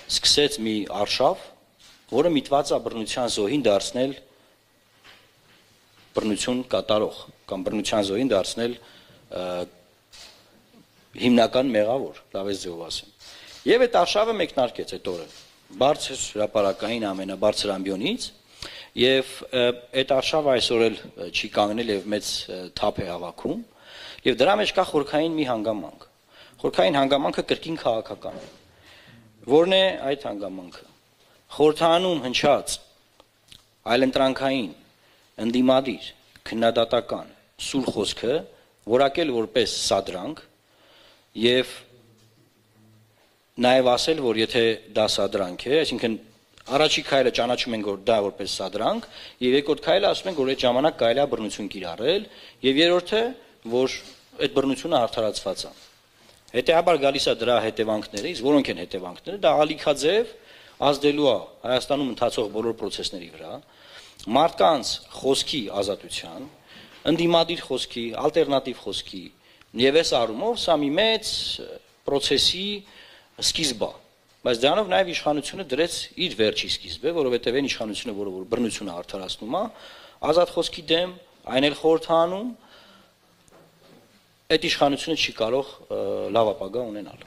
սկսեց մի արշավ, որը միտված է բռնության զոհին դարձնել բռնություն կատարող կամ բռնության զոհին դարձնել հիմնական մեղավոր, լավ է ձեւով ասեմ։ Եվ այդ արշավը մեկնարկեց այդ օրը բարձր հրապարակային ամենաբարձր ամբիոնից եւ այդ արշավը այսօր էլ չի կանգնել եւ մեծ թափ է հավաքում եւ դրա մեջ կա խորքային մի հանգամանք։ Խորքային հանգամանքը կրկին քաղաքական է։ Որն է այդ հանգամանքը։ Խորհրդանում հնչած այլընտրանքային ընդդիմադիր քննադատական սուր խոսքը որակել որպես սադրանք եւ նաեւ ասել, որ եթե դա սադրանք է, այսինքն առաջի քայլը ճանաչում ենք, որ դա որպես սադրանք, եւ երկրորդ քայլը ասում ենք, որ այդ ժամանակ կարելի է բռնություն կիրառել, եւ երրորդը, որ այդ բռնությունը արդարացված է։ Հետեւաբար գալիս է դրա հետևանքները, իսկ որոնք են հետևանքները, դա ալիքաձև ազդելու է Հայաստանում ընթացող բոլոր process-ների վրա, մարդկանց խոսքի ազատության, ընդդիմադիր խոսքի, ալտերնատիվ խոսքի, եւ այս առումով սա մի մեծ process-ի սկիզբ է, բայց դրանով նաև իշխանությունը դրեց իր վերջի սկիզբը, որովհետև այն իշխանությունը, որը որ բռնությունը արդարացնում է, ազատ խոսքի դեմ, այն էլ խորհրդանում, այդ իշխանությունը չի կարող լավ ապագա ունենալ։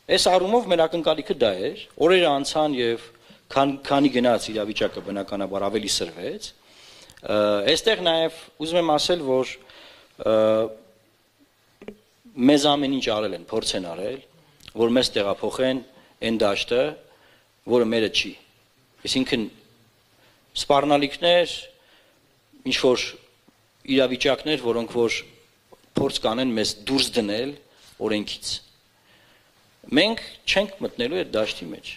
Այս առումով մեր ակնկալիքը դա էր, օրերը անցան եւ քանի գնաց իրավիճակը բնականաբար ավելի սրվեց, այստեղ նաև ուզում եմ ասել, որ մեզ ամեն ինչ արել են, փորձ են արել, որ մեզ տեղափոխեն այն դաշտը, որը մերը չի։ Այսինքն սպառնալիքներ, ինչ որ իրավիճակներ, որոնք որ փորձ կանեն մեզ դուրս դնել օրենքից։ Մենք չենք մտնելու այդ դաշտի մեջ։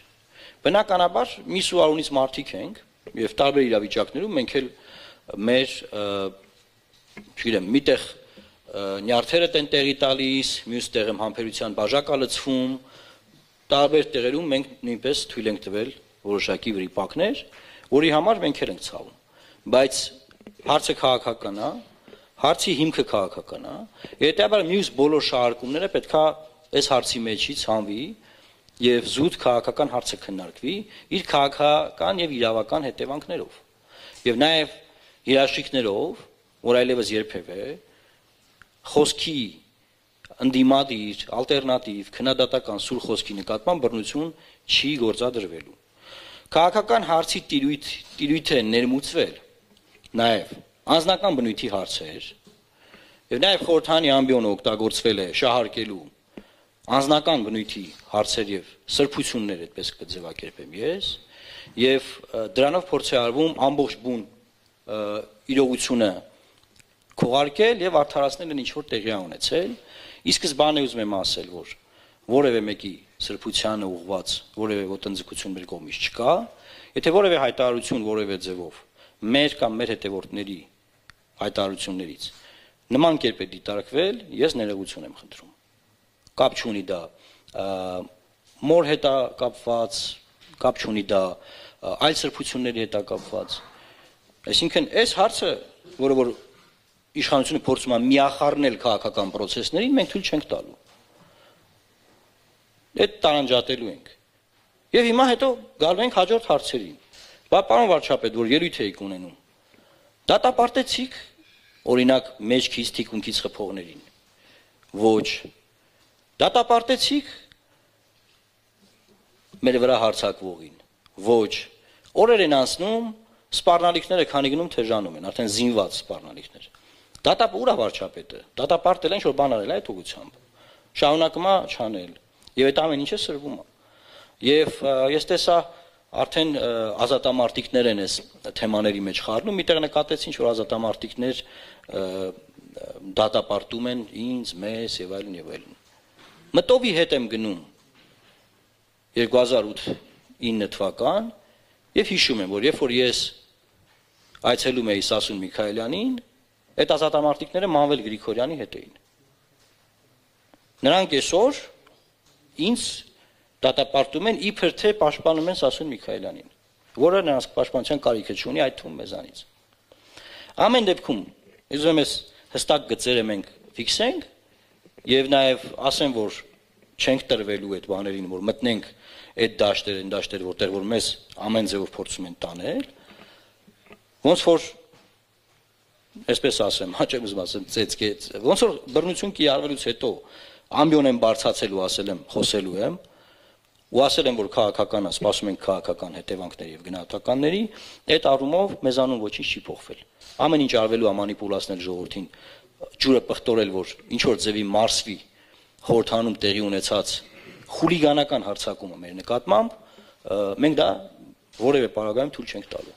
Բնականաբար մի սուարունից մարդիկ ենք եւ տարբեր իրավիճակներում մենք էլ մեր չգիտեմ, միտեղ նյարդերը տեն տեղի տալիս, մյուս տեղում համբերության բաժակա լցվում, տարբեր տեղերում մենք նույնպես թույլ ենք տվել որոշակի վրիպակներ, որի համար մենք էլ ենք ցավում։ Բայց հարցը քաղաքական է, հարցի հիմքը քաղաքական է, հետեւաբար մյուս բոլոր շահարկումները պետքա այս հարցի մեջից հանվի եւ զուտ քաղաքական հարցը քննարկվի իր քաղաքական եւ իրավական հետևանքներով։ Եվ նաեւ երաշխիքներով, որ այլևս երբևէ խոսքի ընդդիմադիր, ալտերնատիվ, քննադատական սուր խոսքի նկատմամբ բռնություն չի գործադրվելու։ Քաղաքական հարցի տիրույթ է ներմուծվել նաև անձնական բնույթի հարցեր, եւ նաև խորհրդանի ամբիոնը օգտագործվել է շահարկելու անձնական բնույթի հարցեր եւ սրբություններ, այդպես կձևակերպեմ ես, եւ դրանով փորձ է արվում ամբողջ բուն իրողությունը քողարկել եւ արդարացնել ինչ որ տեղի ունեցել, իսկ սկզբանե ուզում եմ ասել, որ որևէ մեկի սրբությանը ուղված որևէ ոտնձգություն մեր կողմից չկա, եթե որևէ հայտարարություն որևէ ձևով մեր կամ մեր հետևորդների հայտարարություններից նման կերպ է դիտարկվել, ես ներողություն եմ խնդրում։ Կապ չունի դա մոր հետ է կապված, կապ չունի դա այլ սրբությունների հետ է կապված։ Այսինքն այս հարցը, որը որ իշխանությունը փորձում է միախառնել քաղաքական process-ներին, մենք թույլ չենք տալու։ Այդ տարանջատելու ենք։ Եվ հիմա հետո գալու ենք հաջորդ հարցերին։ Պարոն վարչապետ, որ ելույթ եք ունենում, դատապարտեցիք օրինակ մեջքից թիկունքից խփողներին։ Ոչ։ Դատապարտեցիք մեր վրա հարձակվողին։ Ոչ։ Օրեր են անցնում, սպառնալիքները քանի գնում թեժանում են, արդեն զինված սպառնալիքներ։ Ուր է վարչապետը։ Դատապարտել են, որ բան արել է այդ ուղղությամբ։ Շարունակում է չանել։ Եվ այդ ամեն ինչը սրվում է։ Եվ ես տեսա արդեն ազատամարտիկներ են այս թեմաների մեջ խառնում, միտեղ նկատեցին, որ ազատամարտիկներ դատապարտում են ինձ, մեզ եւ այլն եւ այլն։ Մտովի հետ եմ գնում 2008-9 թվական եւ հիշում եմ, որ երբ որ ես այցելում էի Սասուն Միքայելյանին, այդ ազատամարտիկները Մանվել Գրիգորյանի հետ էին։ Նրանք այսօր ինձ դատապարտում են իբր թե պաշտպանում են Սասուն Միքայելյանին, որը նրանց պաշտպանության կարիքը չունի, այդ թվում մեզանից։ Ամեն դեպքում, ուզում եմ հստակ գծերը մենք ֆիքսենք եւ նաեւ ասեմ, որ չենք տրվելու այդ բաներին, որ մտնենք այդ դաշտեր, որտեղ որ մեզ ամեն ձևով փորձում են տանել, ոնց որ այսպես ասեմ, հաճախ ուզում ասեմ, ծեծկեց, ոնց որ բռնություն կիրառվելուց հետո ամբիոն եմ բարձացել ու ասել եմ, խոսելու եմ, ու ասել եմ, որ քաղաքական է, սպասում ենք քաղաքական հետևանքների եւ գնահատականների, այդ առումով մեզանում ոչինչ չի փոխվել։ Ամեն ինչ արվելու է մանիպուլացնել ժողովրդին, ջուրը պղտորել, որ ինչ որ ձևի մարսվի խորհրդանում տեղի ունեցած խուլիգանական հարձակումը մեր նկատմամբ, մենք դա որևէ պարագայում թույլ չենք տալու։